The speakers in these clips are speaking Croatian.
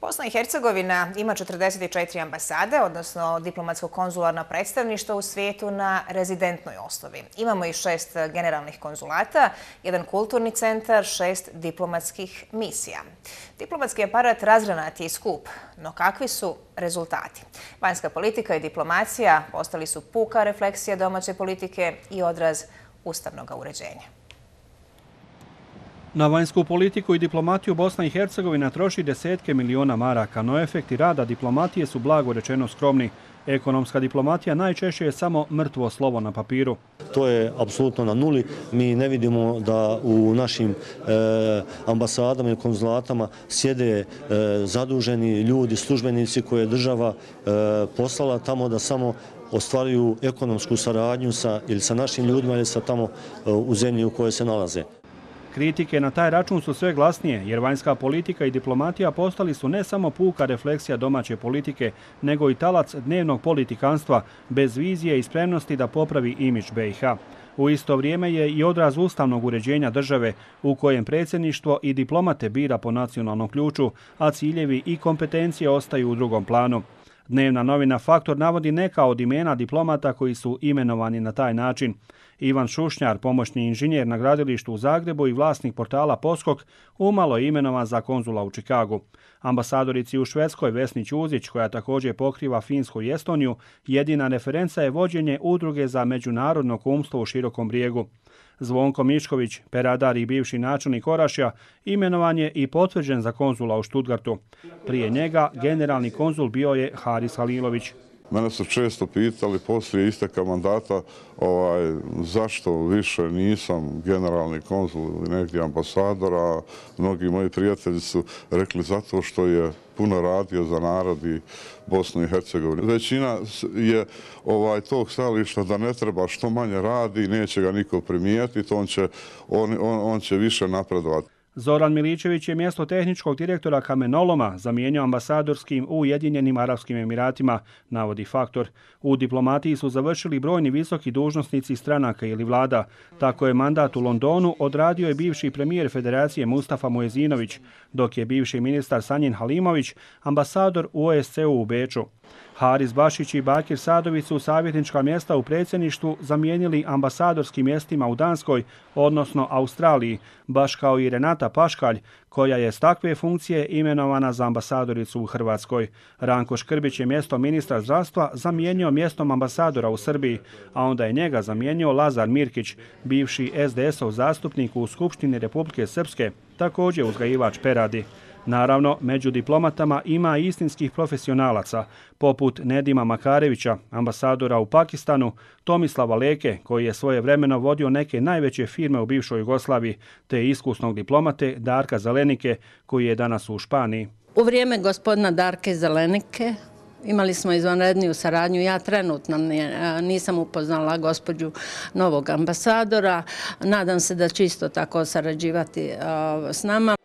Bosna i Hercegovina ima 44 ambasade, odnosno diplomatsko-konzularna predstavništva u svijetu na rezidentnoj osnovi. Imamo i 6 generalnih konzulata, 1 kulturni centar, 6 diplomatskih misija. Diplomatski aparat razgranat je i skup, no kakvi su rezultati? Vanjska politika i diplomacija postali su puka refleksija domaće politike i odraz ustavnog uređenja. Na vanjsku politiku i diplomatiju Bosna i Hercegovina troši desetke miliona maraka, no efekti rada diplomatije su blago rečeno skromni. Ekonomska diplomatija najčešće je samo mrtvo slovo na papiru. To je apsolutno na nuli. Mi ne vidimo da u našim ambasadama i konzulatama sjede zaduženi ljudi, službenici koje je država poslala tamo da samo ostvaruju ekonomsku saradnju ili sa našim ljudima ili sa tamo u zemlji u kojoj se nalaze. Kritike na taj račun su sve glasnije, jer vanjska politika i diplomatija postali su ne samo puka refleksija domaće politike, nego i talac dnevnog politikanstva, bez vizije i spremnosti da popravi imidž BiH. U isto vrijeme je i odraz ustavnog uređenja države, u kojem predsjedništvo i diplomate bira po nacionalnom ključu, a ciljevi i kompetencije ostaju u drugom planu. Dnevna novina Faktor navodi neka od imena diplomata koji su imenovani na taj način. Ivan Šušnjar, pomoćni inženjer na gradilištu u Zagrebu i vlasnik portala Poskok, umalo je imenovan za konzula u Čikagu. Ambasadorici u Švedskoj Vesni Ćuzić, koja također pokriva Finsku i Estoniju, jedina referenca je vođenje udruge za međunarodno kumstvo u Širokom Brijegu. Zvonko Mišković, peradar i bivši načelnik Orašja, imenovan je i potvrđen za konzula u Stuttgartu. Prije njega generalni konzul bio je Haris Halilović. Mene su često pitali poslije isteka mandata zašto više nisam generalni konzul ili negdje ambasador, a mnogi moji prijatelji su rekli zato što je puno radio za narod i Bosnu i Hercegovinu. Većina je tog stajališta da ne treba, što manje radi, neće ga niko primijetiti, on će više napredovati. Zoran Miličević je mjesto tehničkog direktora kamenoloma zamijenio ambasadorskim u Ujedinjenim Arapskim Emiratima, navodi Faktor. U diplomatiji su završili brojni visoki dužnosnici stranaka ili vlada. Tako je mandat u Londonu odradio je bivši premijer Federacije Mustafa Muezinović, dok je bivši ministar Sanjin Halimović ambasador u OSCE u Beču. Haris Bašić i Bakir Sadović su savjetnička mjesta u predsjedništvu zamijenili ambasadorskim mjestima u Danskoj, odnosno Australiji, baš kao i Renata Paškalj, koja je s takve funkcije imenovana za ambasadoricu u Hrvatskoj. Ranko Škrbić je mjesto ministra zdravstva zamijenio mjestom ambasadora u Srbiji, a onda je njega zamijenio Lazar Mirkić, bivši SDS-ov zastupnik u Skupštini Republike Srpske, također uzgajivač peradi. Naravno, među diplomatama ima istinskih profesionalaca, poput Nedima Makarevića, ambasadora u Pakistanu, Tomislava Leke, koji je svojevremeno vodio neke najveće firme u bivšoj Jugoslaviji, te iskusnog diplomate Darka Zelenike, koji je danas u Španiji. U vrijeme gospodina Darke Zelenike imali smo izvanredniju saradnju. Ja trenutno nisam upoznala gospođu novog ambasadora. Nadam se da će isto tako sarađivati s nama.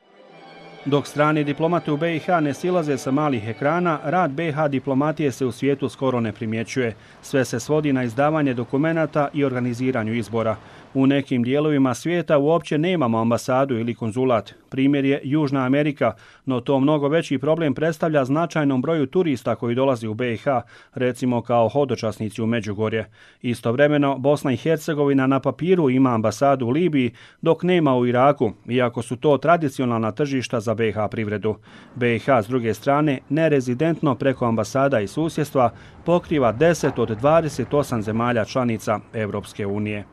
Dok strani diplomate u BiH ne silaze sa malih ekrana, rad BiH diplomatije se u svijetu skoro ne primjećuje. Sve se svodi na izdavanje dokumenata i organiziranju izbora. U nekim dijelovima svijeta uopće nemamo ambasadu ili konzulat. Primjer je Južna Amerika, no to mnogo veći problem predstavlja značajnom broju turista koji dolazi u BiH, recimo kao hodočasnici u Međugorje. Istovremeno, Bosna i Hercegovina na papiru ima ambasadu u Libiji, dok nema u Iraku, iako su to tradicionalna tržišta za BiH privredu. BiH, s druge strane, nerezidentno preko ambasada i susjedstva pokriva 10 od 28 zemalja članica Europske unije.